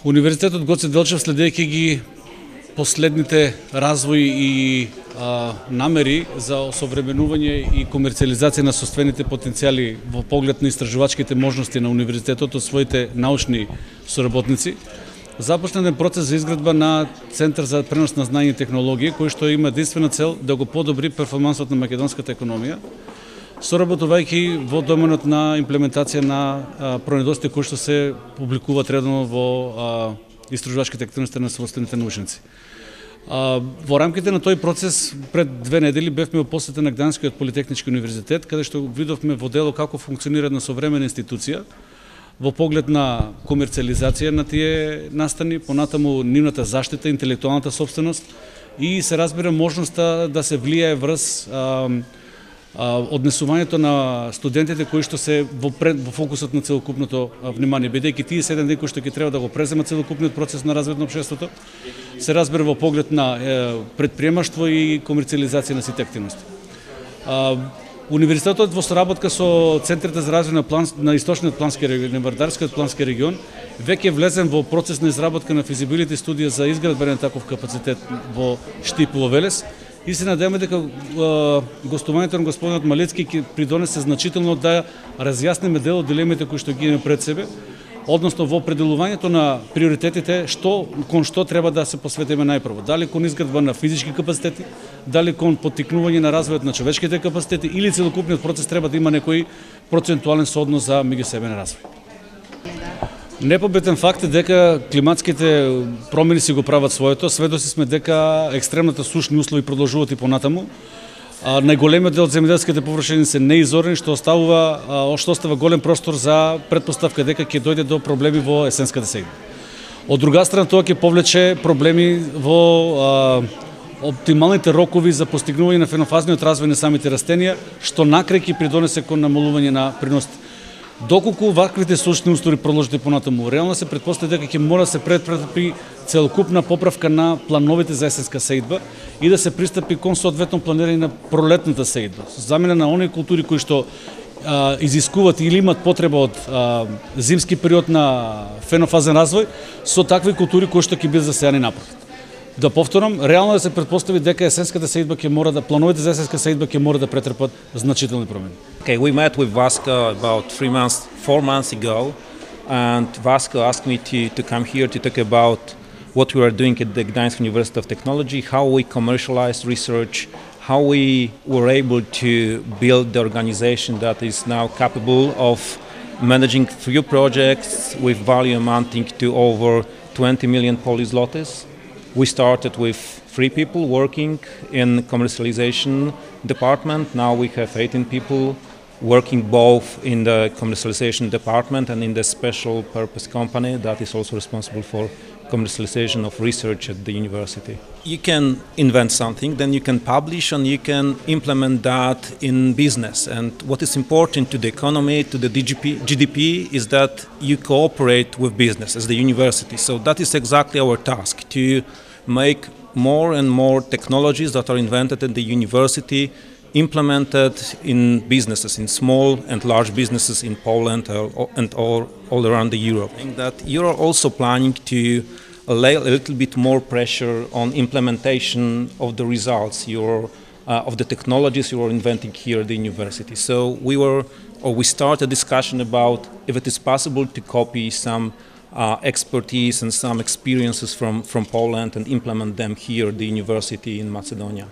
Универзитетот Гоце Делчев, следејќи ги последните развои и намери за осовременување и комерцијализација на собствените потенцијали во поглед на истражувачките можности на универзитетот од своите научни соработници, започна еден процес за изградба на Центар за пренос на знаење и технологии, кој што има единствена цел да го подобри перформансот на македонската економија, соработувајќи во доменот на имплементација на пронајдоците кои што се публикуваат редовно во истражувачките активности на собствените научници. Во рамките на тој процес пред 2 недели бевме во посета на Гданскиот политехнички универзитет, каде што видовме во дело како функционира една современа институција во поглед на комерцијализација на тие настани, понатаму нивната заштита, интелектуалната собственост и се разбира можноста да се влијае врз однесувањето на студентите кои што се во фокусот на целокупното внимание, бидејќи тие се еден ден кои што ќе треба да го преземат целокупниот процес на развој на општеството, се разбира во поглед на предприемаштво и комерцијализација на сите активности. Универзитетот во соработка со Центрите за развој на Источниот плански регион и Вардарскиот плански регион веќе влезен во процес на изработка на физибилити студија за изградба на таков капацитет во Штип и во Велес. И се надеваме дека гостувањето на господинот Малецки ќе придонесе значително да разјасниме дел од дилемите кои што ги имаме пред себе, односно во определувањето на приоритетите кон што треба да се посветиме најпрво. Дали кон изградба на физички капацитети, дали кон поттикнување на развојот на човечките капацитети или целокупниот процес треба да има некој процентуален сооднос за меѓусебен развој. Непобитен факт е дека климатските промени си го прават своето. Сведоци сме дека екстремната сушни услови продолжуваат и понатаму. Најголемиот дел од земјоделските површини се неизорени, што остава голем простор за претпоставка дека ќе дојде до проблеми во есенската сејба. Од друга страна, тоа ќе повлече проблеми во оптималните рокови за постигнување на фенофазниот развој на самите растенија, што накрај ќе придонесе кон намалување на приносите. Доколку ваквите сушни услови продолжат и понатаму, реално се претпостави дека ќе мора да се предпрепи целокупна поправка на плановите за есенска сејдба и да се пристапи кон соодветно планирање на пролетната сејдба. Замена на оние култури кои што изискуваат или имат потреба од зимски период на фенофазен развој со такви култури кои што ќе бидат засејани напротив. Да повторам, реално да се претпостави дека есенската сејдба ќе мора да плановите за есенска сејдба ќе мора да претрпат значителни промени. Okay, we met with Vasco about 4 months ago, and Vasco asked me to come here to talk about what we are doing at the Gdańsk University of Technology, how we commercialize research, how we were able to build the organization that is now capable of managing few projects with value amounting to over 20 million Polish zlotys. We started with 3 people working in commercialization department. Now we have 18 people working both in the commercialization department and in the special purpose company that is also responsible for commercialization of research at the university. You can invent something, then you can publish and you can implement that in business. And what is important to the economy, to the GDP, is that you cooperate with business as the university. So that is exactly our task, to make more and more technologies that are invented at the university implemented in businesses, in small and large businesses in Poland and all around Europe. I think that you are also planning to lay a little bit more pressure on implementation of the results of the technologies you are inventing here at the university. So we start a discussion about if it is possible to copy some expertise and some experiences from Poland and implement them here at the university in Macedonia.